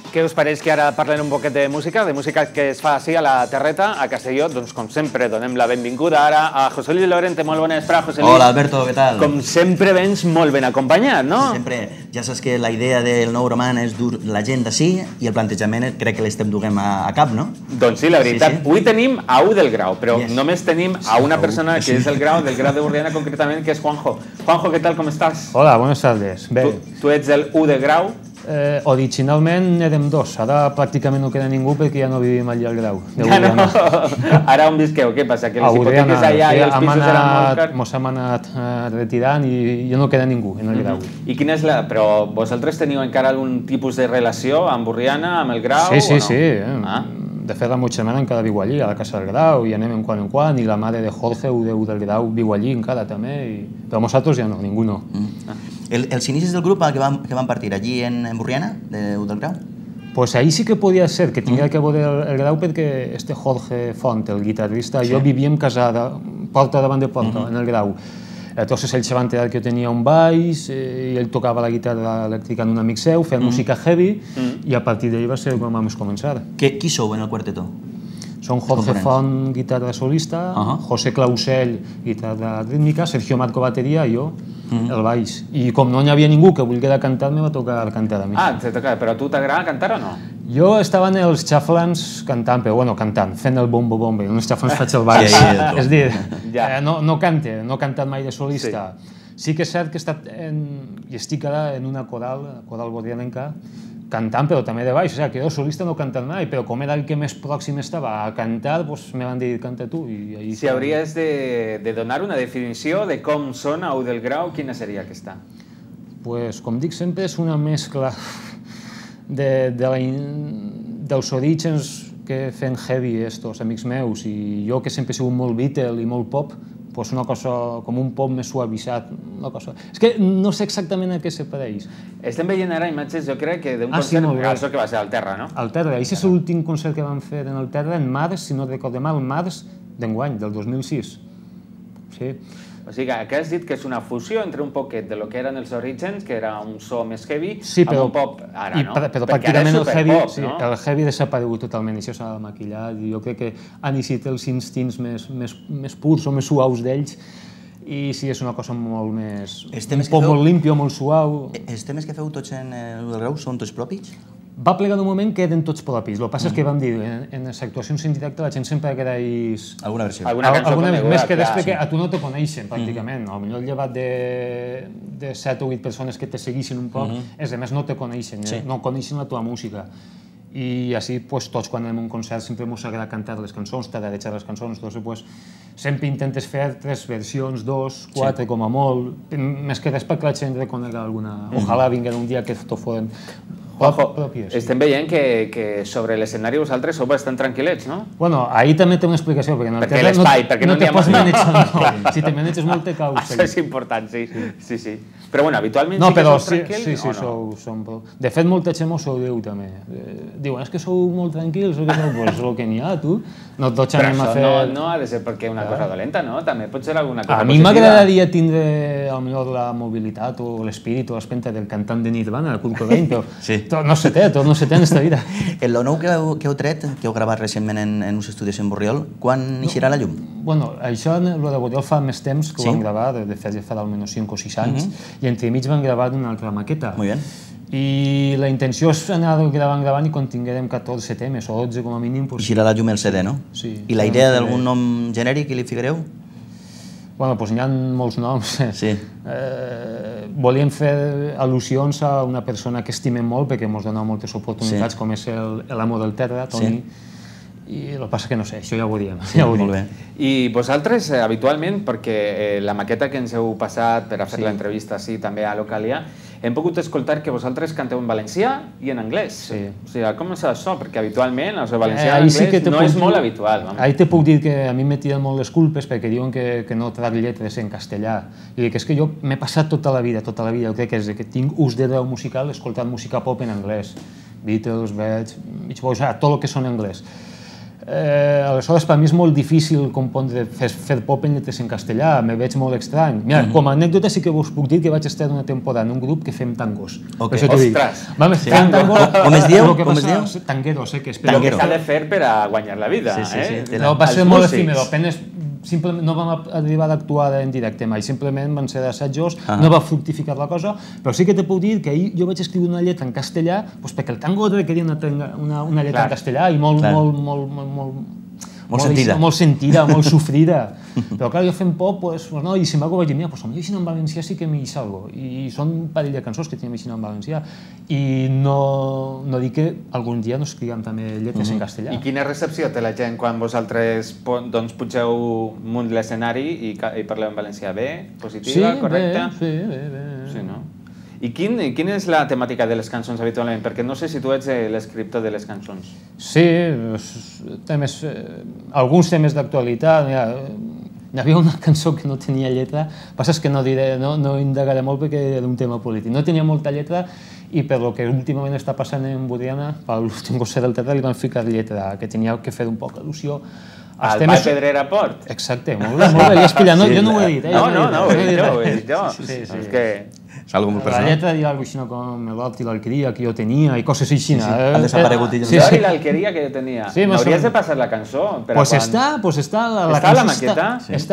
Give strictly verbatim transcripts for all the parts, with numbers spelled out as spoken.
Què us pareix que ara parlem un poquet de música, de música que es fa així a la Terreta, a Castelló? Doncs com sempre donem la benvinguda ara a José Luis Lorente. Molt bona vesprada, José Luis. Hola, Alberto, què tal? Com sempre vens molt ben acompanyat, no? Sempre. Ja saps que la idea del nou roman és dur la gent d'ací i el plantejament crec que l'estem duguem a, a cap, no? Doncs sí, la veritat. Sí, sí. Avui tenim a U del Grau, però yes. només tenim a una persona que és del Grau, del Grau de Borriana concretament, que és Juanjo. Juanjo, què tal, com estàs? Hola, buenas tardes. Bé. Tu, tu ets el U de Grau? Eh, originalment érem dos, ara pràcticament no queda ningú perquè ja no vivim allà al Grau. Ja no? Ara on visqueu? Què passa? Que les hipoteques allà i els pisos eren molt cars? Mos hem anat eh, retirant i ja no queda ningú en el Grau. I quina és la... Però vosaltres teniu encara algun tipus de relació amb Borriana, amb el Grau? Sí, sí, o no? sí. Eh? Ah. De fet, la meva germana encara viu allí, a la casa del Grau, i anem en quan en quan, i la mare de Jorge, U del Grau, viu allí encara també, i... però nosaltres ja no, ningú no. Mm. Ah. El, els inicis del grup que van, que van partir allí en, en Borriana, de U del Grau? Pues ahí sí que podia ser que tinguera que veure el, el Grau perquè este Jorge Font, el guitarrista, sí. jo vivíem casada, porta davant de porta, uh-huh. en el Grau. Entonces ell se va enterar que jo tenia un baix eh, i ell tocava la guitarra elèctrica en un amic seu, feia uh-huh. música heavy uh-huh. i a partir d'ell va ser quan vam començar. Que, qui sou en el quartetó? Són Jorge Font, guitarra solista, uh-huh. José Clausell, guitarra rítmica, Sergio Marco, bateria, i jo, uh-huh. el baix. I com no hi havia ningú que volguera cantar, me va tocar cantar a mi. Ah, te toca, però a tu t'agrada cantar o no? Jo estava en els xaflans cantant, però bueno, cantant, fent el bombo-bombo, en els xaflans faig el baix. Sí, sí, és dir, ja. eh, no, no cante, no he cantat mai de solista. Sí, sí que és cert que he estat en, i estic ara en una coral, coral borrianenca, cantant, però també de baix, o sigui, que jo solista no he cantat mai, però com era el que més pròxim estava a cantar, doncs me van dir, canta tu. I ahí si hauries de, de donar una definició de com sona U del Grau, quina seria aquesta? Pues, com dic sempre, és una mescla de, de la, dels orígens que fent heavy estos amics meus, i jo que sempre he sigut molt Beatle i molt pop, pues una cosa com un pop més suavitzat, una cosa... És que no sé exactament a què se pareix. Estem veient ara imatges, jo crec, que d'un ah, concert, sí, això que va ser al Terra, no? Al Terra, això és l'últim concert que vam fer en el Terra, en març, si no recordo mal, març d'enguany, del dos mil sis. Sí. O sigui, que has dit que és una fusió entre un poquet de lo que eren els orígens, que era un so més heavy, sí, però, amb un pop ara, i, no? Però perquè pràcticament el heavy, pop, sí, no? el heavy desaparegut totalment, això s'ha de maquillar, i jo crec que han eixit els instints més, més, més purs o més suaus d'ells, i sí, és una cosa molt més... un pop molt limpio, molt suau... Els temes que feu tots en U del Grau són tots propis? Va plegar d'un moment que eren tots propis. El que passa és que vam dir, en les actuacions en directe la gent sempre agraeix... Alguna versió. Alguna cançó alguna més que després que a tu no te coneixen, pràcticament. Potser llevat de set o vuit persones que te segueixen un poc, els altres no te coneixen, no coneixen la teva música. I així, tots, quan anem a un concert, sempre ens agrada cantar les cançons, tararejar les cançons, doncs, sempre intentes fer tres versions, dos, quatre, com a molt, més que res perquè la gent reconegui alguna... Ojalà vinguin un dia que tot foren pròpies. Estem veient que sobre l'escenari vosaltres sou bastant tranquil·lets, no? Bueno, ahir també té una explicació, perquè en el perquè l'espai, perquè no te pots manejar. Si te maneges molt te caus. Això és important, sí. Sí, sí. Però bueno, habitualment sí que sou tranquils sí, sí, o no? De fet, molta gent m'ho diu també. Diuen, és que sou molt tranquils, o que no? Pues el que n'hi ha, tu. No tots anem a fer... Però això no ha de ser perquè una cosa dolenta, no? També pot ser alguna cosa positiva. A mi m'agradaria tindre, potser, la mobilitat o l'espírit o l'espenta del cantant de Nirvana, el Kurt Cobain, però no se té, tot no se té en aquesta vida. El nou que heu tret, que heu gravat recentment en uns estudis en Borriol, quan eixirà la llum? Bueno, això, el de Borriol fa més temps que ho vam gravar, de fet ja fa almenys cinc o sis anys, i entremig vam gravar una altra maqueta. Molt bé. I la intenció és anar gravant, gravant i quan tinguem catorze temes o dotze com a mínim... Eixirà la llum el C D, no? Sí. I la idea d'algun nom genèric que li ficareu? Bueno, doncs hi ha molts noms. Sí. Volíem fer al·lusions a una persona que estimem molt perquè ens dona moltes oportunitats, com és l'amo del Terra, Toni, i el que passa que no sé, això ja ho diem. Molt bé. I vosaltres, habitualment, perquè la maqueta que ens heu passat per a fer l'entrevista així també a Localia, hem pogut escoltar que vosaltres canteu en valencià i en anglès. O sigui, com és això? Perquè habitualment el valencià i l'anglès no és molt habitual. Ahí te puc dir que a mi m'he tirat molt les culpes perquè diuen que no trac lletres en castellà. I dic, és que jo m'he passat tota la vida, tota la vida, crec que és que tinc ús de veu musical escoltant música pop en anglès. Beatles, Beatles, Beach Boys, tot el que són en anglès. Aleshores, per mi és molt difícil compondre, fer pop en lletres en castellà, me veig molt estrany. Mira, com a anècdota sí que us puc dir que vaig estar una temporada en un grup que fem tangos. Ostres! Fem tangos... Com es diu? Com es diu? Tangueros, eh? El que s'ha de fer per a guanyar la vida, eh? No, va ser molt efímero, apenas no vam arribar a actuar en directe mai, simplement van ser assajos, no va fructificar la cosa, però sí que te puc dir que ahir jo vaig escriure una lletra en castellà perquè el tango requeria una lletra en castellà i molt, molt, molt, molt, molt sentida, molt sentida, molt sofrida. Però clar, jo fent pop, no, i si m'hago vaig dir, mira, doncs potser en valencià sí que m'hi salgo. I són un parell de cançons que tenim així en valencià. I no dic que algun dia no escriguem també lletres en castellà. I quina recepció té la gent quan vosaltres pugeu munt l'escenari i parleu en valencià? Bé? Positiva? Correcta? Sí, bé, bé. Sí, no? I quina és la temàtica de les cançons habitualment? Perquè no sé si tu ets l'escriptor de les cançons. Sí, alguns temes d'actualitat. Hi havia una cançó que no tenia lletra, el que passa és que no diré, no indagaré molt perquè era un tema polític. No tenia molta lletra i per lo que últimament està passant en Borriana, per l'últim concert del teatre li van ficar lletra, que tenia que fer un poc al·lusió. Al Vall Pedrera Port? Exacte, molt bé, molt bé, ja has pillat, jo no ho he dit. No, no, no, ho he dit jo, ho he dit jo. És que... És algo molt personal. La lletra diu alguna cosa com l'Hort i l'Alqueria que jo tenia i coses així. Han desaparegut. L'Hort i l'Alqueria que jo tenia. M'hauries de passar la cançó? Pues està, pues està. Està a la maqueta?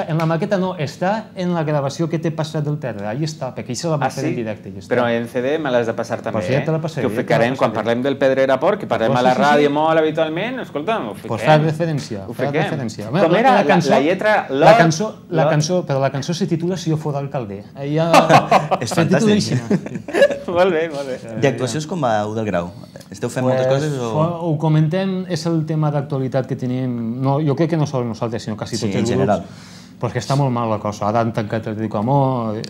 En la maqueta no, està en la gravació que t'he passat del teatre. Ahí està, perquè això la va fer en directe. Però en C D me l'has de passar també, eh? Que ho ficarem quan parlem del Pedrera Port, que parlem a la ràdio molt habitualment, escolta'm, ho fiquem. Pues fa referència. Ho fiquem. Com era la lletra? La cançó, però la cançó se titula Si jo fos alcalde. És fantàstic. Molt bé, molt bé. I actuacions com a U del Grau? Esteu fent moltes coses o...? Ho comentem, és el tema d'actualitat que tenim, jo crec que no sols nosaltres, sinó quasi tots els grups, perquè està molt mal la cosa. Ara han tancat el Rico Amor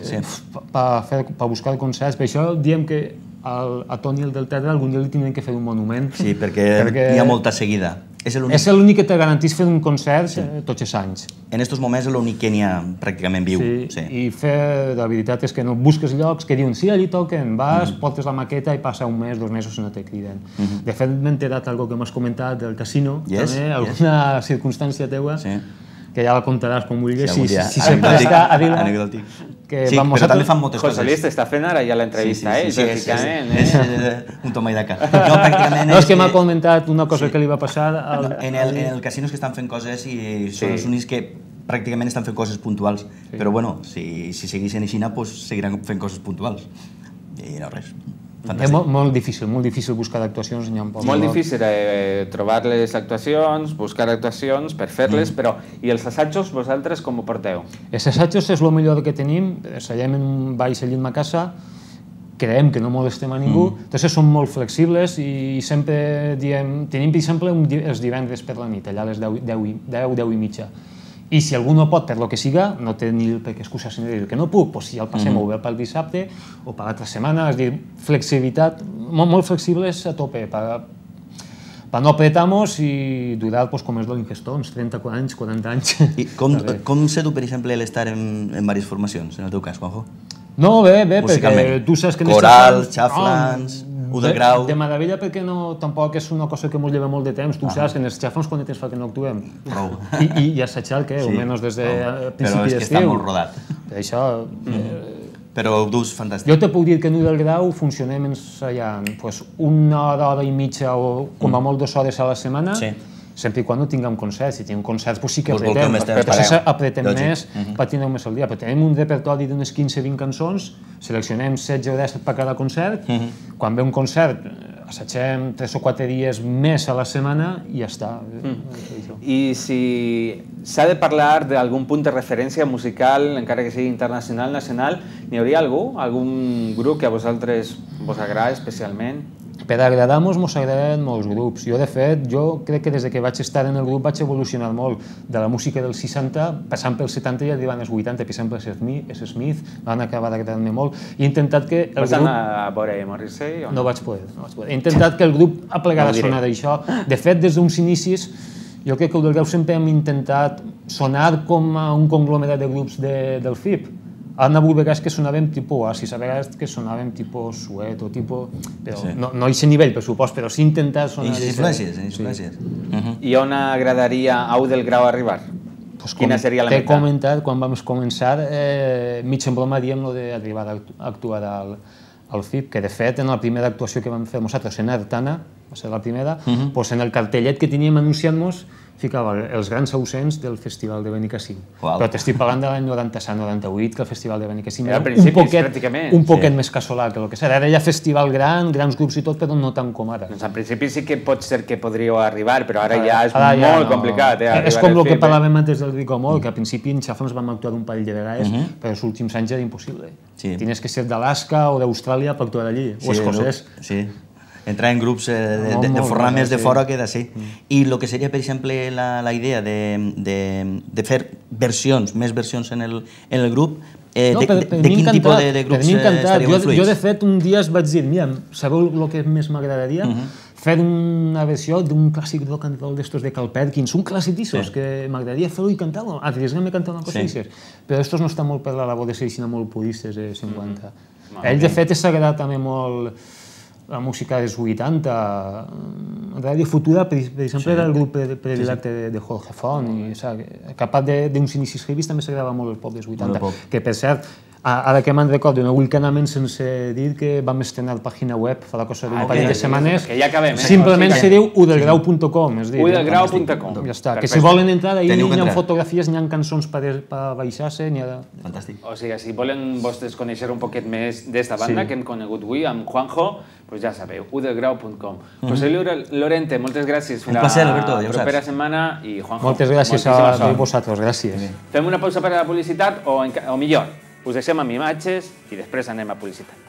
per buscar concerts, per això diem que a Toni el del teatre algun dia li tindrem que fer un monument. Sí, perquè hi ha molta seguida. És l'únic que te garantís fer un concert tots els anys. En aquests moments és l'únic que n'hi ha pràcticament viu. I fer, la veritat és que no busques llocs que diuen sí, allí toquen, vas, portes la maqueta i passa un mes, dos mesos i no te criden. De fet, m'he enterat alguna cosa que m'has comentat del casino, també, alguna circumstància teua, que ja la contaràs com vulguis, si sempre està a dir-la. Sí, però també fan moltes coses. José Luis t'està fent ara ja l'entrevista, eh? Sí, és un toma i daca. No, pràcticament... No, és que m'ha comentat una cosa que li va passar... En el casino és que estan fent coses i són els únics que pràcticament estan fent coses puntuals. Però, bueno, si segueixen així, doncs seguiran fent coses puntuals. I no res. És molt difícil, molt difícil buscar actuacions. Molt difícil trobar les actuacions, buscar actuacions per fer-les, però i els assajos vosaltres com ho porteu? Els assajos és el millor que tenim, seguem en un baix allà a casa, creiem que no molestem a ningú, entonces som molt flexibles i sempre diem, tenim per exemple els divendres per la nit, allà a les deu, deu i mitja. I si algú no pot, per lo que siga, no té ni per què excusar-se ni dir que no puc, doncs si ja el passem o bé pel dissabte o per l'altra setmana, és a dir, flexibilitat, molt flexibles a tope, per no apretar-nos i durar com és l'Infestó, uns trenta anys, quaranta anys. I com se du, per exemple, l'estar en diverses formacions, en el teu cas, Juanjo? No, bé, bé, perquè tu saps que... Corals, xaflans... U del Grau... De meravella perquè tampoc és una cosa que ens lleva molt de temps. Tu saps que en els xafons quan temps fa que no actuem. Prou. I assajar el què? Almenys des de principi d'estiu. Però és que està molt rodat. Això... Però ho dus fantàstic. Jo te puc dir que en U del Grau funcionem ensaiant una hora, hora i mitja o com a molt dues hores a la setmana, sempre i quan no tinguem concerts. Si tinguem concerts, sí que apretem. Apretem més per tenir més al dia. Però tenim un repertori d'unes quinze a vint cançons, seleccionem setze o disset per cada concert. Quan ve un concert, assagem tres o quatre dies més a la setmana i ja està. I si s'ha de parlar d'algun punt de referència musical, encara que sigui internacional, nacional, n'hi hauria algú? Algun grup que a vosaltres vos agrada especialment? Per agradar-nos mos agraden molts grups. Jo, de fet, jo crec que des que vaig estar en el grup vaig evolucionar molt de la música dels seixanta, passant pels setanta i arribant als vuitanta. Per exemple, els Smith van acabar d'agradar-me molt. He intentat que el grup... Vas anar a veure Morrissey o no? No vaig poder. He intentat que el grup aplegara a sonar d'això. De fet, des d'uns inicis, jo crec que el del Grau sempre hem intentat sonar com a un conglomerat de grups del F I P. Han hagut vegades que sonàvem tipus Oasis, a vegades que sonàvem tipus Suet o tipus... Però no a aquest nivell, per supost, però sí intentar sonar... I influències, influències. I on agradaria a U del Grau arribar? Quina seria la meta? T'he comentat, quan vam començar, mig en broma diem d'arribar a actuar al F I P, que de fet en la primera actuació que vam fer nosaltres en Artana, va ser la primera, en el cartellet que teníem anunciant-nos ficava els grans ausents del Festival de Benicàssim. Però t'estic parlant de l'any noranta-set noranta-vuit, que el Festival de Benicàssim era un poquet més casolà que el que serà. Ara hi ha festival gran, grans grups i tot, però no tant com ara. Doncs en principi sí que pot ser que podríeu arribar, però ara ja és molt complicat. És com el que parlàvem antes del Ricomol, que al principi en Xafons vam actuar un parell de vegades, però els últims anys era impossible. Tenies que ser d'Alaska o d'Austràlia per actuar allí, o escocès. Sí, entrar en grups de forrar més de fora que d'ací. I el que seria, per exemple, la idea de fer versions, més versions en el grup, de quin tipus de grups estaríeu influïts? Jo, de fet, un dia es vaig dir, mira, sabeu el que més m'agradaria? Fer una versió d'un clàssic rock and roll d'estos de Carl Perkins, un clàssic d'issos, que m'agradaria fer-ho i cantar-lo, arriesgar-me a cantar una cosa d'aixes. Però estos no estan molt per la labor de ser així molt puristes de cinquanta. Ell, de fet, s'ha agradat també molt la música dels vuitanta. Radio Futura, per exemple, era el grup predilecte de Jorge Font, i capat d'uns inicis heavies també s'agradava molt el pop dels vuitanta. Que, per cert, ara que me'n recordo, no vull anar menys sense dir que vam estrenar pàgina web fa la cosa d'un parell de setmanes. Simplement se diu u del grau punt com. u del grau punt com. Ja està. Que si volen entrar, ahir hi ha fotografies, hi ha cançons per baixar-se. Fantàstic. O sigui, si volen vostès conèixer un poquet més d'esta banda que hem conegut avui amb Juanjo, doncs ja sabeu, u del grau punt com. José Lorente, moltes gràcies. Un placer, Alberto, ja ho saps. La propera setmana i Juanjo. Moltes gràcies a vosaltres, gràcies. Fem una pausa per a la publicitat o millor, us deixem amb imatges i després anem a publicitat.